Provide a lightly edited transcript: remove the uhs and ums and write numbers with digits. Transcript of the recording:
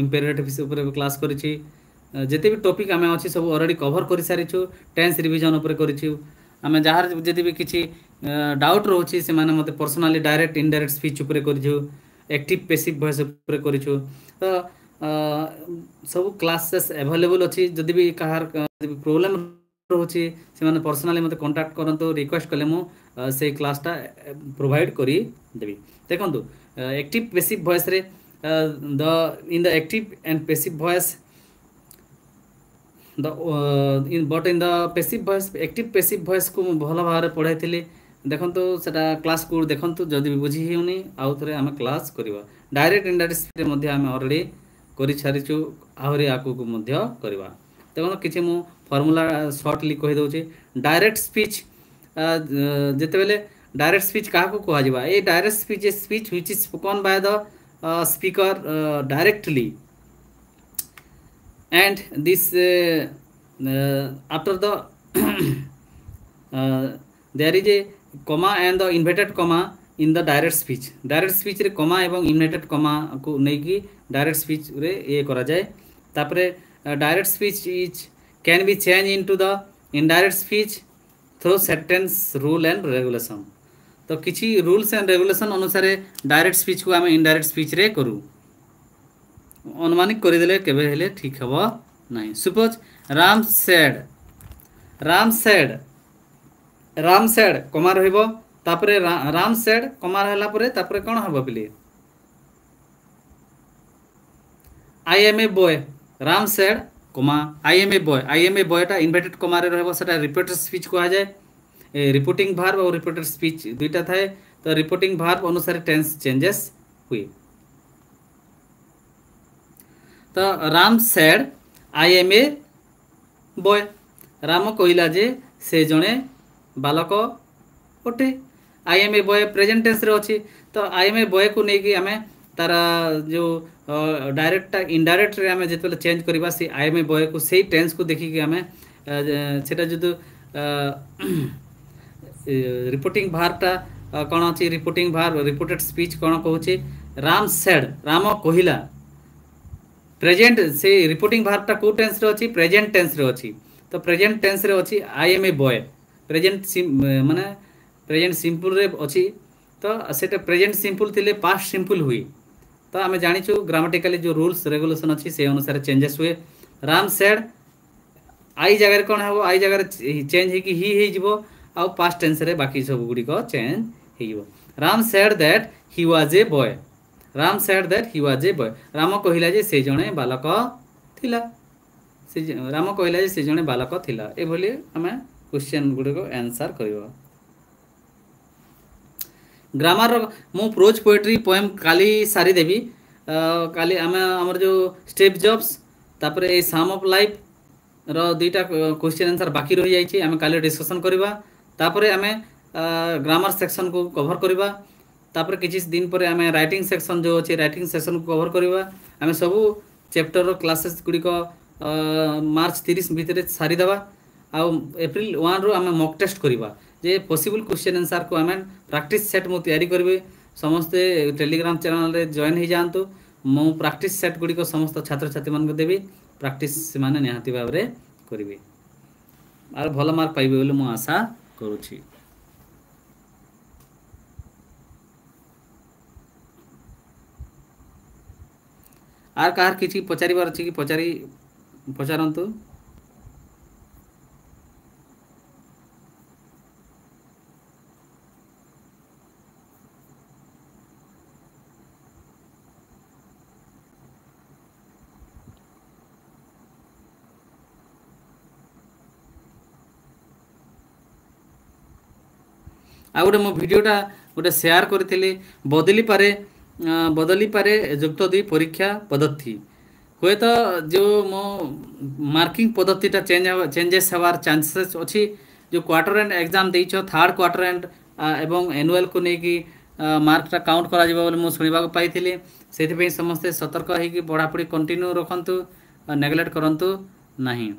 ଇମ୍ପେରେଟିଭ୍ସ ଉପରେ କ୍ଲାସ୍ କରିଛି। ଯେତେ ବି ଟପିକ୍ ଆମେ ଅଛି ସବୁ ଅଲରେଡ଼ି କଭର୍ କରିସାରିଛୁ। ଟେନ୍ସ ରିଭିଜନ୍ ଉପରେ କରିଛୁ ଆମେ। ଯାହାର ଯଦି ବି କିଛି ଡାଉଟ୍ ରହୁଛି, ସେମାନେ ମୋତେ ପର୍ସନାଲି ଡାଇରେକ୍ଟ ଇନଡାଇରେକ୍ଟ ସ୍ପିଚ୍ ଉପରେ କରିଛୁ, ଆକ୍ଟିଭ୍ ପେସିଭ୍ ଭଏସ୍ ଉପରେ କରିଛୁ। ତ ସବୁ କ୍ଲାସେସ୍ ଆଭେଲେବୁଲ୍ ଅଛି। ଯଦି ବି କାହାର ପ୍ରୋବ୍ଲେମ୍ ରହୁଛି, ସେମାନେ ପର୍ସନାଲି ମୋତେ କଣ୍ଟାକ୍ଟ କରନ୍ତୁ। ରିକ୍ୱେଷ୍ଟ କଲେ ମୁଁ ସେଇ କ୍ଲାସ୍ଟା ପ୍ରୋଭାଇଡ଼ କରିଦେବି। ଦେଖନ୍ତୁ, ଆକ୍ଟିଭ୍ ପେସିଭ୍ ଭଏସ୍ରେ the in the active and passive voice the in but in the passive voice, active passive voice କୁ ମୁଁ ଭଲ ଭାବରେ ପଢ଼ାଇଥିଲି। ଦେଖନ୍ତୁ, ସେଟା କ୍ଲାସ୍କୁ ଦେଖନ୍ତୁ। ଯଦି ବି ବୁଝି ହେଉନି, ଆଉ ଥରେ ଆମେ କ୍ଲାସ୍ କରିବା। ଡାଇରେକ୍ଟ ଇନଡାଇରେକ୍ଟ ମଧ୍ୟ ଆମେ ଅଲରେଡ଼ି କରିସାରିଛୁ, ଆହୁରି ଆଗକୁ ମଧ୍ୟ କରିବା। ଦେଖନ୍ତୁ, କିଛି ମୁଁ ଫର୍ମୁଲା ସର୍ଟଲି କହିଦେଉଛି। ଡାଇରେକ୍ଟ ସ୍ପିଚ୍ ଯେତେବେଳେ, ଡାଇରେକ୍ଟ ସ୍ପିଚ୍ କାହାକୁ କୁହାଯିବ? ଏ direct speech, a speech which is spoken by the speaker directly and this after the there is a comma and the inverted comma in the direct speech. Direct speech ରେ comma ଏବଂ inverted comma କୁ ନେଇକି direct speech ରେ ଇଏ କରାଯାଏ। ତାପରେ direct speech is can be changed into the indirect speech through sentence rule and regulation. ତ କିଛି ରୁଲ୍ସ ଆଣ୍ଡ ରେଗୁଲେସନ୍ ଅନୁସାରେ ଡାଇରେକ୍ଟ ସ୍ପିଚକୁ ଆମେ ଇନଡାଇରେକ୍ଟ ସ୍ପିଚରେ କରୁ। ଅନୁମାନିକ କରିଦେଲେ କେବେ ହେଲେ ଠିକ୍ ହେବ ନାହିଁ। Suppose Ram said, Ram said, Ram said, comma ରହିବ। ତାପରେ ରାମ ସେଡ୍ କମା ହେଲା ପରେ ତାପରେ କ'ଣ ହେବ ପିଲେ? I am a boy. Ram said comma I am a boy. I am a ବୟଟା inverted କମାରେ ରହିବ, ସେଟା ରିପୋର୍ଟେଡ୍ ସ୍ପିଚ୍ କୁହାଯାଏ। ରିପୋର୍ଟିଂ ଭାର୍ବ ଆଉ ରିପୋର୍ଟେଡ୍ ସ୍ପିଚ୍ ଦୁଇଟା ଥାଏ। ତ ରିପୋର୍ଟିଂ ଭାର୍ବ ଅନୁସାରେ ଟେନ୍ସ ଚେଞ୍ଜେସ୍ ହୁଏ। ତ Ram said I am a boy. Ram କହିଲା ଯେ ସେ ଜଣେ ବାଲକ ଅଟେ। I am a boy present ଟେନ୍ସରେ ଅଛି। ତ I M A ବୟକୁ ନେଇକି ଆମେ ତାର ଯେଉଁ ଡାଇରେକ୍ଟଟା ଇନଡାଇରେକ୍ଟରେ ଆମେ ଯେତେବେଳେ ଚେଞ୍ଜ କରିବା, ସେ I M A ବୟକୁ ସେଇ ଟେନ୍ସକୁ ଦେଖିକି ଆମେ ସେଟା ଯଦି ରିପୋର୍ଟିଂ ଭାର୍ବଟା କ'ଣ ଅଛି, ରିପୋର୍ଟିଂ ଭାର୍ବ, ରିପୋର୍ଟେଡ୍ ସ୍ପିଚ୍ କ'ଣ କହୁଛି? ରାମ ସେଡ୍, ରାମ କହିଲା। ପ୍ରେଜେଣ୍ଟ, ସେ ରିପୋର୍ଟିଂ ଭାର୍ବଟା କେଉଁ ଟେନ୍ସରେ ଅଛି? ପ୍ରେଜେଣ୍ଟ ଟେନ୍ସରେ ଅଛି। ତ ପ୍ରେଜେଣ୍ଟ ଟେନ୍ସରେ ଅଛି I am a boy, present ମାନେ ପ୍ରେଜେଣ୍ଟ ସିମ୍ପଲରେ ଅଛି। ତ ସେଟା ପ୍ରେଜେଣ୍ଟ ସିମ୍ପଲ ଥିଲେ ପାଷ୍ଟ ସିମ୍ପଲ ହୁଏ। ତ ଆମେ ଜାଣିଛୁ ଗ୍ରାମାଟିକାଲି ଯେଉଁ ରୁଲ୍ସ ରେଗୁଲେସନ୍ ଅଛି, ସେ ଅନୁସାରେ ଚେଞ୍ଜେସ୍ ହୁଏ। ରାମ ସେଡ୍, I ଜାଗାରେ କ'ଣ ହେବ? I ଜାଗାରେ ଚେଞ୍ଜ ହେଇକି ହି ହେଇଯିବ ଆଉ ପାଷ୍ଟ ଟେନ୍ସରେ ବାକି ସବୁ ଗୁଡ଼ିକ ଚେଞ୍ଜ ହେଇଯିବ। Ram said that he was a boy. Ram said that he was a boy. Ram କହିଲା ଯେ ସେ ଜଣେ ବାଲକ ଥିଲା। ସେ ରାମ କହିଲା ଯେ ସେ ଜଣେ ବାଲକ ଥିଲା। ଏଭଳି ଆମେ କ୍ୱେଶ୍ଚନ୍ ଗୁଡ଼ିକ ଆନ୍ସର୍ କରିବା। ଗ୍ରାମାର ମୁଁ ପ୍ରୋଜ୍, ପୋଏଟ୍ରି, ପୋଏମ୍ କାଲି ସାରିଦେବି। କାଲି ଆମେ ଆମର ଯେଉଁ ଷ୍ଟିଭ୍ ଜବ୍ସ, ତାପରେ ଏଇ ସାମ୍ ଅଫ୍ ଲାଇଫ୍ ର ଦୁଇଟା କ୍ୱେଶ୍ଚନ୍ ଆନ୍ସର୍ ବାକି ରହିଯାଇଛି, ଆମେ କାଲି ଡିସ୍କସନ୍ କରିବା। ତାପରେ ଆମେ ଗ୍ରାମାର ସେକ୍ସନକୁ କଭର୍ କରିବା। ତାପରେ କିଛି ଦିନ ପରେ ଆମେ ରାଇଟିଂ ସେକ୍ସନ୍ ଯେଉଁ ଅଛି, ରାଇଟିଂ ସେକ୍ସନକୁ କଭର୍ କରିବା। ଆମେ ସବୁ ଚାପ୍ଟରର କ୍ଲାସେସ୍ ଗୁଡ଼ିକ ମାର୍ଚ୍ଚ 30 ଭିତରେ ସାରିଦେବା ଆଉ ଏପ୍ରିଲ 1ରୁ ଆମେ ମକ୍ ଟେଷ୍ଟ କରିବା ଯେ ପସିବଲ୍ କ୍ୱେଶ୍ଚନ୍ ଆନ୍ସର୍କୁ ଆମେ ପ୍ରାକ୍ଟିସ୍ ସେଟ୍ ମୁଁ ତିଆରି କରିବି। ସମସ୍ତେ ଟେଲିଗ୍ରାମ ଚ୍ୟାନେଲରେ ଜଏନ୍ ହେଇଯାଆନ୍ତୁ। ମୁଁ ପ୍ରାକ୍ଟିସ୍ ସେଟ୍ ଗୁଡ଼ିକ ସମସ୍ତ ଛାତ୍ରଛାତ୍ରୀମାନଙ୍କୁ ଦେବି। ପ୍ରାକ୍ଟିସ୍ ସେମାନେ ନିହାତି ଭାବରେ କରିବେ ଆଉ ଭଲ ମାର୍କ ପାଇବେ ବୋଲି ମୁଁ ଆଶା କରୁଛି। আর କାହାର କିଛି ପଚାରିବାର ଅଛି କି? ପଚାରନ୍ତୁ। ଆଉ ଗୋଟେ ମୋ ଭିଡ଼ିଓଟା ଗୋଟେ ସେୟାର କରିଥିଲି, ବଦଳିପାରେ ଯୁକ୍ତ ଦୁଇ ପରୀକ୍ଷା ପଦ୍ଧତି। ହୁଏତ ଯେଉଁ ମୋ ମାର୍କିଂ ପଦ୍ଧତିଟା ଚେଞ୍ଜେସ୍ ହେବାର ଚାନ୍ସେସ୍ ଅଛି। ଯେଉଁ କ୍ୱାର୍ଟର ଏଣ୍ଡ ଏକ୍ଜାମ୍ ଦେଇଛ, ଥାର୍ଡ଼ କ୍ୱାର୍ଟର ଏଣ୍ଡ ଏବଂ ଆନୁଆଲକୁ ନେଇକି ମାର୍କଟା କାଉଣ୍ଟ କରାଯିବ ବୋଲି ମୁଁ ଶୁଣିବାକୁ ପାଇଥିଲି। ସେଥିପାଇଁ ସମସ୍ତେ ସତର୍କ ହେଇକି ପଢ଼ାପଢ଼ି କଣ୍ଟିନ୍ୟୁ ରଖନ୍ତୁ, ନେଗ୍ଲେକ୍ଟ କରନ୍ତୁ ନାହିଁ।